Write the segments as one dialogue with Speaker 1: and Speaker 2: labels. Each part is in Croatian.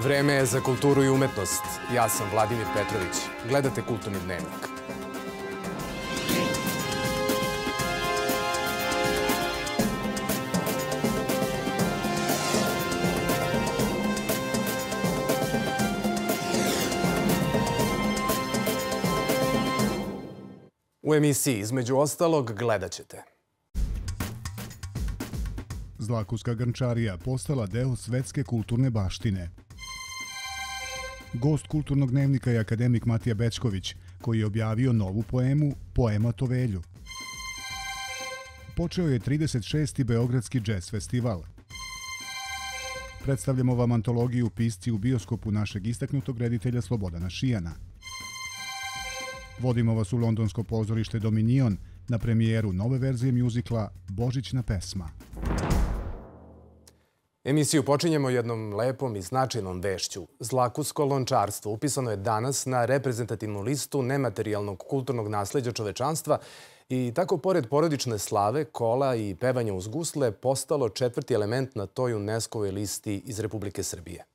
Speaker 1: Vreme je za kulturu i umetnost. Ja sam Vladimir Petrović. Gledate Kulturni dnevnik. U emisiji, između ostalog, gledat ćete.
Speaker 2: Zlakuska grnčarija postala deo svetske kulturne baštine. Gost Kulturnog dnevnika je akademik Matija Bećković, koji je objavio novu poemu Poema Tovelju. Počeo je 36. Beogradski džez festival. Predstavljamo vam antologiju Pisci u bioskopu našeg istaknutog reditelja Slobodana Šijana. Vodimo vas u londonsko pozorište Dominion na premijeru nove verzije mjuzikla Božićna pesma.
Speaker 1: Emisiju počinjemo jednom lepom i značajnom vešću. Zlakusko lončarstvo upisano je danas na reprezentativnu listu nematerijalnog kulturnog nasleđa čovečanstva i tako, pored porodične slave, kola i pevanja uz gusle, postalo četvrti element na toj UNESCO-voj listi iz Republike Srbije.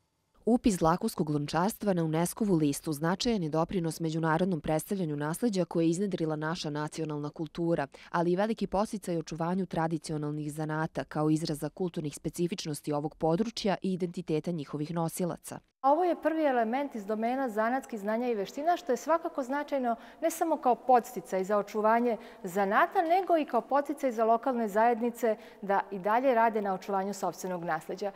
Speaker 3: Upis zlakuskog lončarstva na UNESCO-vu listu značajan je doprinos međunarodnom predstavljanju nasleđa koje je iznedrila naša nacionalna kultura, ali i veliki podsticaj očuvanju tradicionalnih zanata kao izraza kulturnih specifičnosti ovog područja i identiteta njihovih nosilaca.
Speaker 4: Ovo je prvi element iz domena zanatskih znanja i veština, što je svakako značajno ne samo kao podsticaj za očuvanje zanata, nego i kao podsticaj za lokalne zajednice da i dalje rade na očuvanju sopstvenog nasleđa.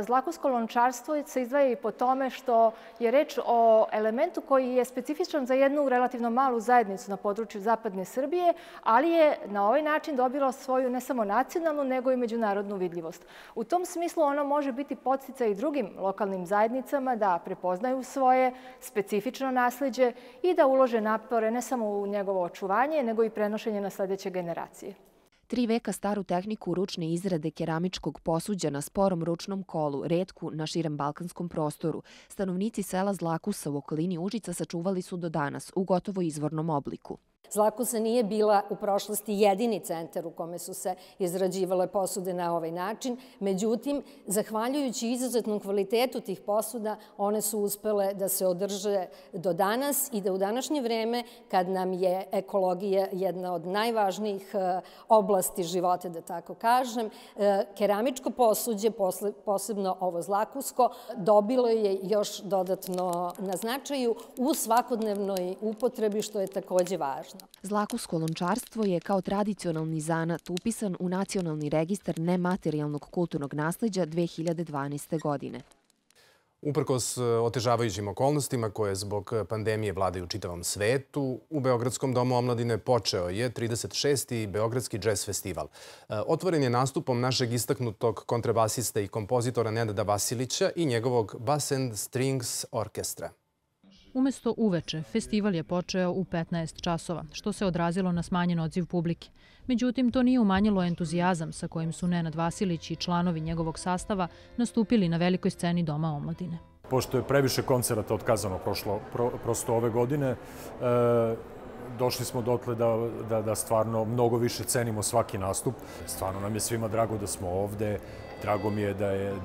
Speaker 4: Zlakusko lončarstvo se izdvaja i po tome što je reč o elementu koji je specifičan za jednu relativno malu zajednicu na području zapadne Srbije, ali je na ovaj način dobilo svoju ne samo nacionalnu, nego i međunarodnu vidljivost. U tom smislu ono može biti podsticaj i drugim lokalnim zajednicama da prepoznaju svoje specifično nasleđe i da ulože napore ne samo u njegovo očuvanje, nego i prenošenje na sledeće generacije.
Speaker 3: 3 veka staru tehniku ručne izrade keramičkog posuđa na sporom ručnom kolu, retku na širem balkanskom prostoru, stanovnici sela Zlakusa u okolini Užica sačuvali su do danas u gotovo izvornom obliku.
Speaker 5: Zlakusa nije bila u prošlosti jedini centar u kome su se izrađivale posude na ovaj način. Međutim, zahvaljujući izuzetnom kvalitetu tih posuda, one su uspele da se održe do danas i da u današnje vreme, kad nam je ekologija jedna od najvažnijih oblasti života, da tako kažem, keramičko posuđe, posebno ovo zlakusko, dobilo je još dodatno na značaju u svakodnevnoj upotrebi, što je takođe važno.
Speaker 3: Zlakusko lončarstvo je kao tradicionalni zanat upisan u Nacionalni registar nematerijalnog kulturnog nasleđa 2012. godine.
Speaker 1: Uprkos otežavajućim okolnostima koje zbog pandemije vladaju u čitavom svetu, u Beogradskom domu omladine počeo je 36. Beogradski džez festival. Otvoren je nastupom našeg istaknutog kontrabasista i kompozitora Nenada Vasilića i njegovog Bass and Strings Orkestra.
Speaker 6: Umesto uveče, festival je počeo u 15 časova, što se odrazilo na smanjen odziv publike. Međutim, to nije umanjilo entuzijazam sa kojim su Nenad Vasilić i članovi njegovog sastava nastupili na velikoj sceni Doma omladine.
Speaker 7: Pošto je previše koncerata otkazano prosto ove godine, došli smo dotle da stvarno mnogo više cenimo svaki nastup. Stvarno nam je svima drago da smo ovde. Drago mi je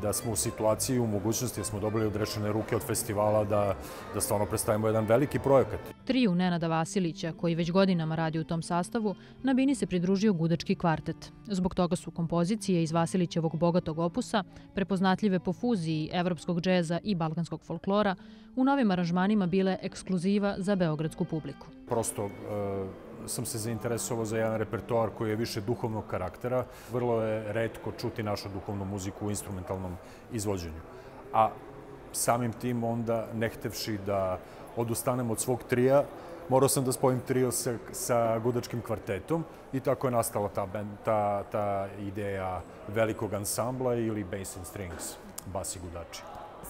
Speaker 7: da smo u situaciji, u mogućnosti da smo dobili odrešene ruke od festivala da stvarno predstavimo jedan veliki projekat.
Speaker 6: Triju Nenada Vasilića, koji već godinama radi u tom sastavu, na bini se pridružio gudački kvartet. Zbog toga su kompozicije iz Vasilićevog bogatog opusa, prepoznatljive po fuziji evropskog džeza i balkanskog folklora, u novim aranžmanima bile ekskluziva za beogradsku publiku.
Speaker 7: Prosto sam se zainteresovao za jedan repertoar koji je više duhovnog karaktera. Vrlo je retko čuti našu duhovnu muziku u instrumentalnom izvođenju. A samim tim onda, ne htevši da odustanem od svog trija, morao sam da spojim trio sa gudačkim kvartetom i tako je nastala ta ideja velikog ansambla ili Bass and Strings, bas i gudači.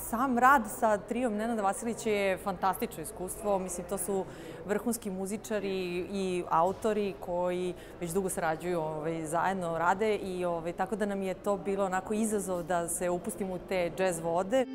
Speaker 8: Sam rad sa trijom Nenada Vasilića je fantastično iskustvo. Mislim, to su vrhunski muzičari i autori koji već dugo sarađuju, zajedno rade i tako da nam je to bilo onako izazov da se upustimo u te džez vode.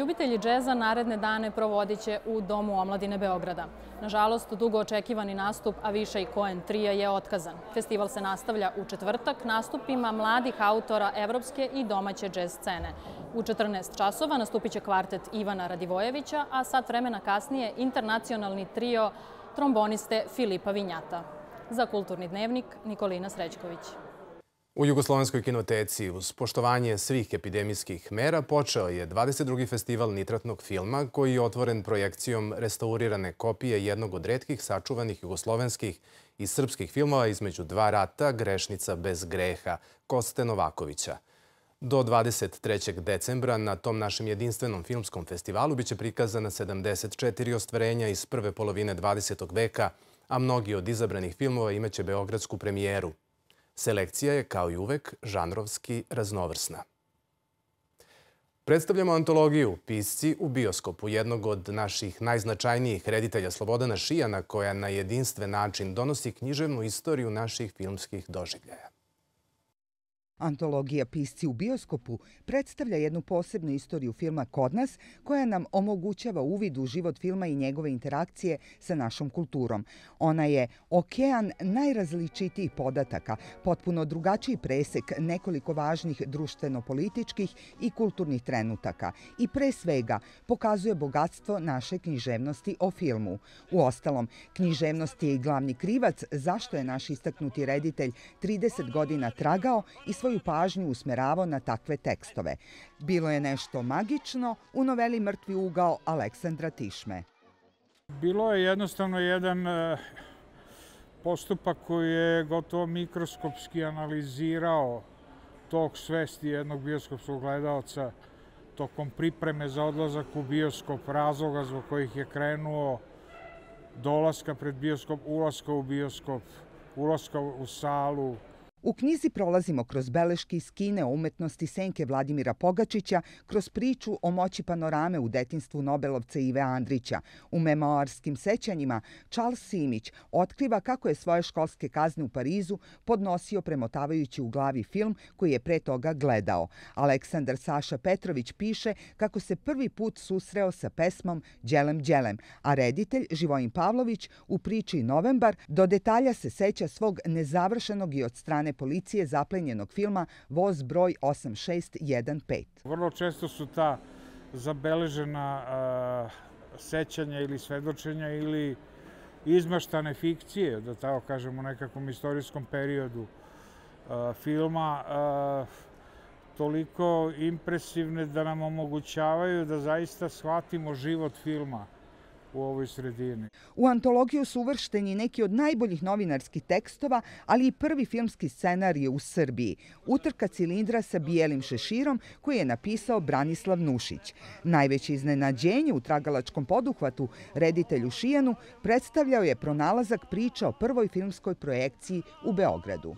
Speaker 9: Ljubitelji džeza naredne dane provodit će u Domu omladine Beograda. Nažalost, dugo očekivani nastup Aviša i Cohen trija je otkazan. Festival se nastavlja u četvrtak nastupima mladih autora evropske i domaće džez scene. U 14 časova nastupit će kvartet Ivana Radivojevića, a sat vremena kasnije internacionalni trio tromboniste Filipa Vinjata. Za Kulturni dnevnik, Nikolina Srećković.
Speaker 1: U Jugoslovenskoj kinoteci uz poštovanje svih epidemijskih mera počeo je 22. festival nitratnog filma koji je otvoren projekcijom restaurirane kopije jednog od retkih sačuvanih jugoslovenskih i srpskih filmova između dva rata Grešnica bez greha Koste Novakovića. Do 23. decembra na tom našem jedinstvenom filmskom festivalu biće prikazana 74 ostvarenja iz prve polovine 20. veka, a mnogi od izabranih filmova imaće beogradsku premijeru. Selekcija je, kao i uvek, žanrovski raznovrsna. Predstavljamo antologiju Pisci u bioskopu, jednog od naših najznačajnijih reditelja Slobodana Šijana, koja na jedinstven način donosi književnu istoriju naših filmskih doživljaja.
Speaker 10: Antologija Pisci u bioskopu predstavlja jednu posebnu istoriju filma kod nas koja nam omogućava uvid u život filma i njegove interakcije sa našom kulturom. Ona je okean najrazličitijih podataka, potpuno drugačiji presek nekoliko važnih društveno-političkih i kulturnih trenutaka i pre svega pokazuje bogatstvo naše književnosti o filmu. Uostalom, književnost je i glavni krivac zašto je naš istaknuti reditelj 30 godina tragao i svoju pažnju usmeravao na takve tekstove. Bilo je nešto magično u noveli Mrtvi ugao Aleksandra Tišme.
Speaker 11: Bilo je jednostavno jedan postupak koji je gotovo mikroskopski analizirao tok svesti jednog bioskopskog gledaoca tokom pripreme za odlazak u bioskop, razloga zbog kojih je krenuo, dolaska pred bioskop, ulaska u bioskop, ulaska u salu.
Speaker 10: U knjizi prolazimo kroz beleške iz kine o umetnosti senke Vladimira Pogačića, kroz priču o moći panorame u detinjstvu Nobelovca Ive Andrića. U memoarskim sećanjima Charles Simić otkriva kako je svoje školske kazne u Parizu podnosio premotavajući u glavi film koji je pre toga gledao. Aleksandar Saša Petrović piše kako se prvi put susreo sa pesmom Đelem Đelem, a reditelj Živojin Pavlović u priči Novembar do detalja se seća svog nezavršenog i od strane policije zaplenjenog filma Voz broj 8615.
Speaker 11: Vrlo često su ta zabeležena sećanja ili svedočenja ili izmaštane fikcije, da tako kažemo, u nekakvom istorijskom periodu filma toliko impresivne da nam omogućavaju da zaista shvatimo život filma u ovoj sredini.
Speaker 10: U antologiju su uvršteni neki od najboljih novinarskih tekstova, ali i prvi filmski scenarij u Srbiji. Utrka cilindra sa bijelim šeširom koji je napisao Branislav Nušić. Najveće iznenađenje u tragalačkom poduhvatu reditelju Šijanu predstavljao je pronalazak priča o prvoj filmskoj projekciji u Beogradu.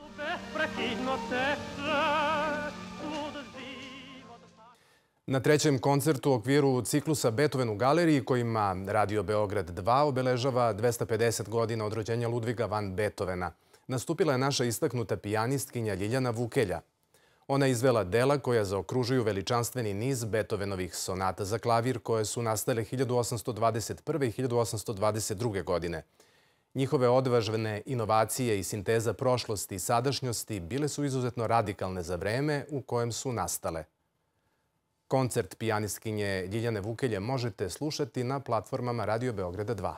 Speaker 1: Na trećem koncertu u okviru ciklusa Beethoven u galeriji kojima Radio Beograd 2 obeležava 250 godina od rođenja Ludviga van Beethovena, nastupila je naša istaknuta pijanistkinja Ljiljana Vukelja. Ona je izvela dela koja zaokružuju veličanstveni niz Beethovenovih sonata za klavir koje su nastale 1821. i 1822. godine. Njihove odvažne inovacije i sinteza prošlosti i sadašnjosti bile su izuzetno radikalne za vreme u kojem su nastale. Koncert pijanistkinje Ljiljane Vukelje možete slušati na platformama Radio Beograda 2.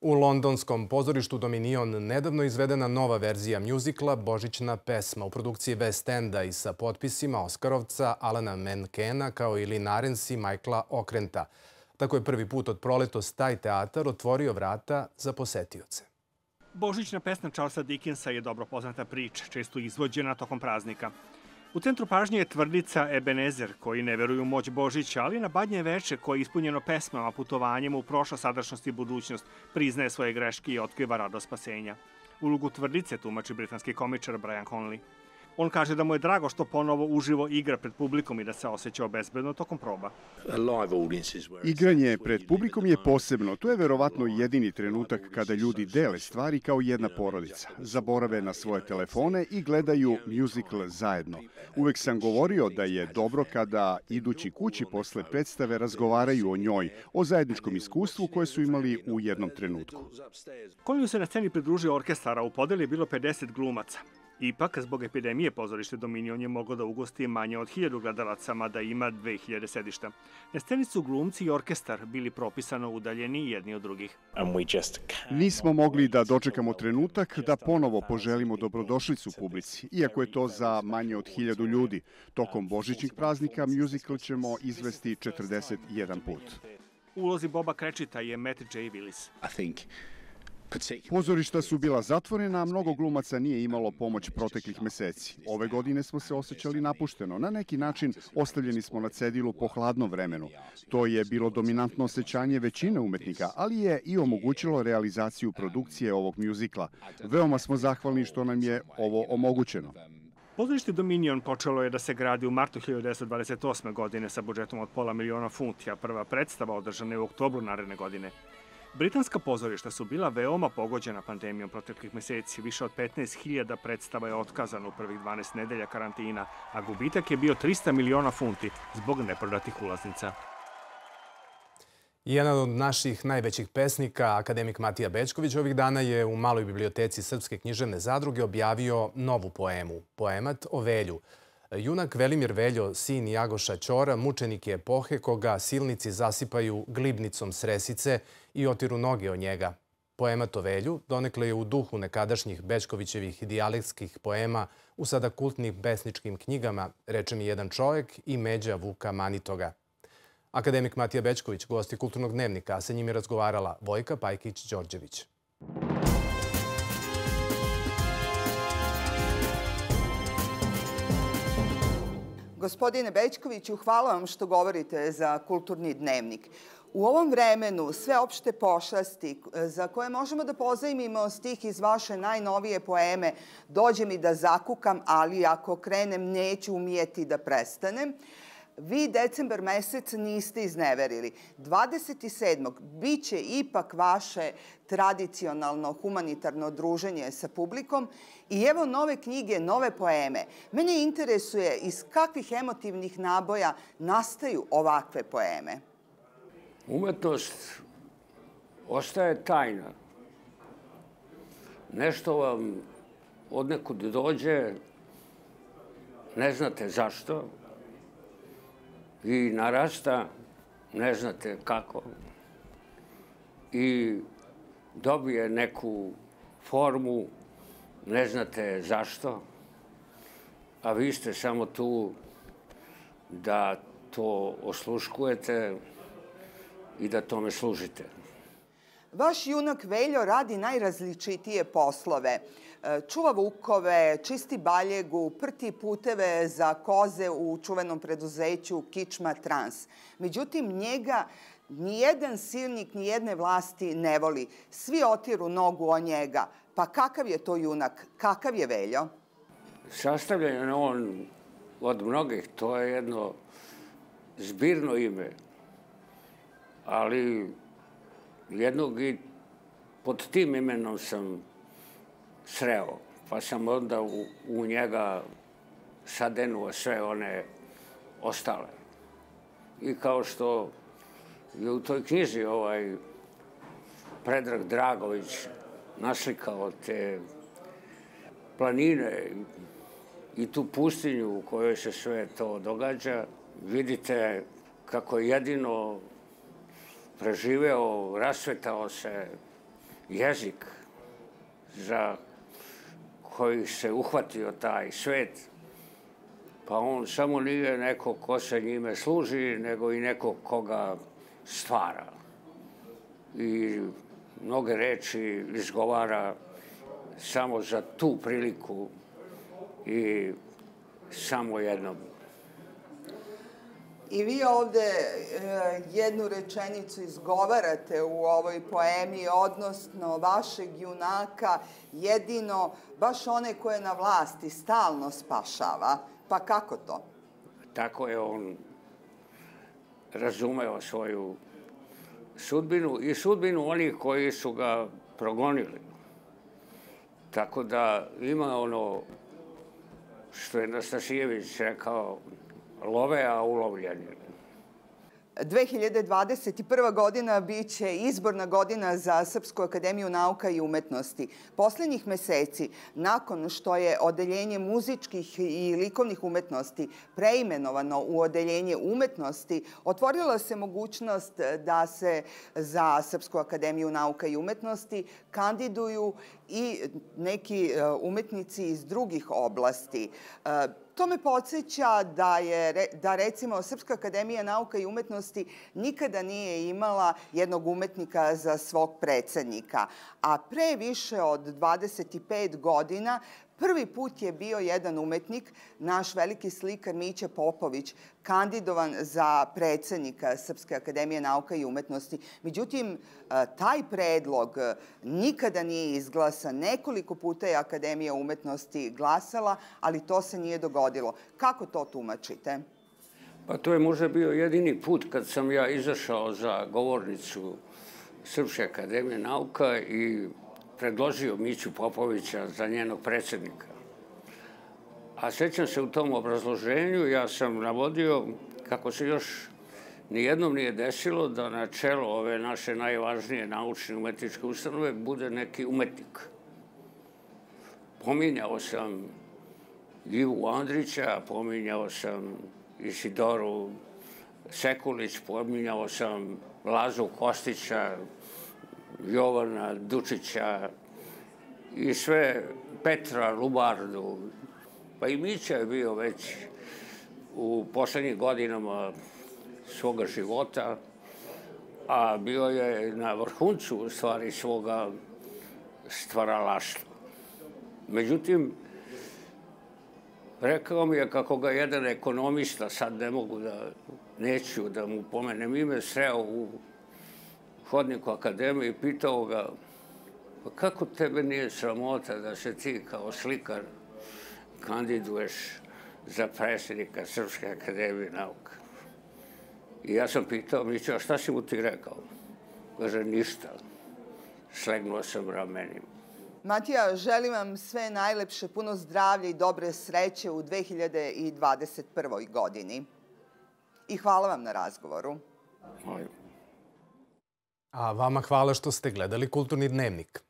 Speaker 1: U londonskom pozorištu Dominion nedavno izvedena nova verzija mjuzikla Božićna pesma u produkciji West Enda i sa potpisima Oskarovca Alana Menkena kao i Lynn Ahrens i Michaela Okrenta. Tako je prvi put od proletos taj teatar otvorio vrata za posetioce.
Speaker 12: Božićna pesma Charlesa Dickensa je dobro poznata priča, često izvođena tokom praznika. U centru pažnje je tvrdica Ebenezer, koji ne veruju u moć Božića, ali na Badnje veče, koje je ispunjeno pesmama, putovanjem u prošlost, sadašnjost i budućnost, priznaje svoje greške i otkriva radost spasenja. Ulogu tvrdice tumači britanski komičar Brian Conley. On kaže da mu je drago što ponovo uživo igra pred publikom i da se osjećao bezbedno tokom proba.
Speaker 13: Igranje pred publikom je posebno. To je verovatno jedini trenutak kada ljudi dele stvari kao jedna porodica. Zaborave na svoje telefone i gledaju muzikl zajedno. Uvek sam govorio da je dobro kada idući kući posle predstave razgovaraju o njoj, o zajedničkom iskustvu koje su imali u jednom trenutku.
Speaker 12: Koliju se na sceni pridružio orkestar, a u podeli je bilo 50 glumaca. Ipak, zbog epidemije, pozorište Dominion je moglo da ugosti manje od 1000 gledalaca, mada ima 2000 sedišta. Na sceni su glumci i orkestar bili propisano udaljeni jedni od drugih.
Speaker 13: Nismo mogli da dočekamo trenutak da ponovo poželimo dobrodošlicu publici, iako je to za manje od 1000 ljudi. Tokom božićnih praznika muzikl ćemo izvesti 41 put.
Speaker 12: U ulozi Boba Cratchita je Matt J. Willis.
Speaker 13: Pozorišta su bila zatvorena, a mnogo glumaca nije imalo pomoć proteklih meseci. Ove godine smo se osjećali napušteno. Na neki način ostavljeni smo na cedilu po hladnom vremenu. To je bilo dominantno osjećanje većine umetnika, ali je i omogućilo realizaciju produkcije ovog muzikla. Veoma smo zahvalni što nam je ovo omogućeno.
Speaker 12: Pozorište Dominion počelo je da se gradi u martu 1928. godine sa budžetom od $500.000, a prva predstava održana je u oktobru naredne godine. Britanska pozorišta su bila veoma pogođena pandemijom proteklih meseci. Više od 15.000 predstava je otkazano u prvih 12 nedelja karantina, a gubitak je bio $300 miliona zbog neprodatih ulaznica.
Speaker 1: Jedan od naših najvećih pesnika, akademik Matija Bećković, ovih dana je u Maloj biblioteci Srpske književne zadruge objavio novu poemu, poemat o Velju. Junak Velimir Veljo, sin Jagoša Ćora, mučenik je epohe koga silnici zasipaju glibnicom s resice i otiru noge od njega. Poemat o Velju donekle je u duhu nekadašnjih Bećkovićevih dijalektskih poema u sada kultnim pesničkim knjigama Reče mi jedan čovjek i Međa Vuka Manitoga. Akademik Matija Bećković, gosti Kulturnog dnevnika, a sa njim je razgovarala Vojka Pajkić-Đorđević.
Speaker 10: Gospodine Bećkoviću, hvala vam što govorite za Kulturni dnevnik. U ovom vremenu sve opšte pošasti za koje možemo da pozajmimo stih iz vaše najnovije poeme Dođe mi da zakukam, ali ako krenem neću umijeti da prestanem, vi decembar mesec niste izneverili. 27. biće ipak vaše tradicionalno humanitarno druženje sa publikom i evo nove knjige, nove poeme. Mene interesuje iz kakvih emotivnih naboja nastaju ovakve poeme.
Speaker 14: Umetnost ostaje tajna. Nešto vam odnekud dođe, ne znate zašto, i narasta, ne znate kako, i dobije neku formu, ne znate zašto, a vi ste samo tu da to osluškujete i da tome služite.
Speaker 10: Vaš junak Veljo radi najrazličitije poslove. Čuva vukove, čisti baljegu, prti puteve za koze u čuvenom preduzeću Kičma Trans. Međutim, njega nijedan silnik, nijedne vlasti ne voli. Svi otiru nogu o njega. Pa kakav je to junak? Kakav je Veljo?
Speaker 14: Sastavljen je on od mnogih. To je jedno zbirno ime. Ali jednog i pod tim imenom sam sreo, pa sam onda u njega sadenuo sve one ostale. I kao što je u toj knjizi Predrag Dragović naslikao te planine i tu pustinju u kojoj se sve to događa, vidite kako je jedino preživeo, rasvetao se jezik za koji se uhvatio taj svet, pa on samo nije neko ko se njime služi, nego i neko koga stvara. I mnoge reči izgovara samo za tu priliku i samo jednom.
Speaker 10: I vi ovde jednu rečenicu izgovarate u ovoj poemi, odnosno vašeg junaka, jedino baš one koje na vlasti stalno spašava. Pa kako to?
Speaker 14: Tako je on razumeo svoju sudbinu i sudbinu onih koji su ga progonili. Tako da ima ono što je Nastasijević rekao, love, a ulovljeni.
Speaker 10: 2021. godina biće izborna godina za Srpsku akademiju nauka i umetnosti. Poslednjih meseci, nakon što je Odeljenje muzičkih i likovnih umetnosti preimenovano u Odeljenje umetnosti, otvorila se mogućnost da se za Srpsku akademiju nauka i umetnosti kandiduju i neki umetnici iz drugih oblasti. To me podsjeća da recimo Srpska akademija nauka i umetnosti nikada nije imala jednog umetnika za svog predsednika, a pre više od 25 godina prvi put je bio jedan umetnik, naš veliki slikar Mića Popović, kandidovan za predsednika Srpske akademije nauka i umetnosti. Međutim, taj predlog nikada nije izglasan. Nekoliko puta je Akademija umetnosti glasala, ali to se nije dogodilo. Kako to tumačite?
Speaker 14: Pa to je možda bio jedini put kad sam ja izašao za govornicu Srpske akademije nauka i predložio Miću Popovića za njenog predsednika. A sećam se u tom obrazloženju, ja sam navodio kako se još nijednom nije desilo da na čelo ove naše najvažnije naučne umetničke ustanove bude neki umetnik. Pominjao sam Ivu Andrića, pominjao sam Isidoru Sekulić, pominjao sam Lazu Kostića, Jovana Dučića i sve Petra Lubardu. Pa i Mića je bio već u poslednjih godinama svoga života, a bio je na vrhuncu u stvari svoga stvaralaštva. Međutim, rekao mi je kako ga jedan ekonomista, sad neću da mu pomenem ime, sreo u hodniku akademije i pitao ga kako tebe nije sramota da se ti kao slikar kandiduješ za predsjednika Srpske akademije nauka. I ja sam pitao Miću, a šta si mu ti rekao? Kaže, ništa. Slegnuo sam ramenima.
Speaker 10: Matija, želim vam sve najlepše, puno zdravlja i dobre sreće u 2021. godini. I hvala vam na razgovoru.
Speaker 1: A vama hvala što ste gledali Kulturni dnevnik.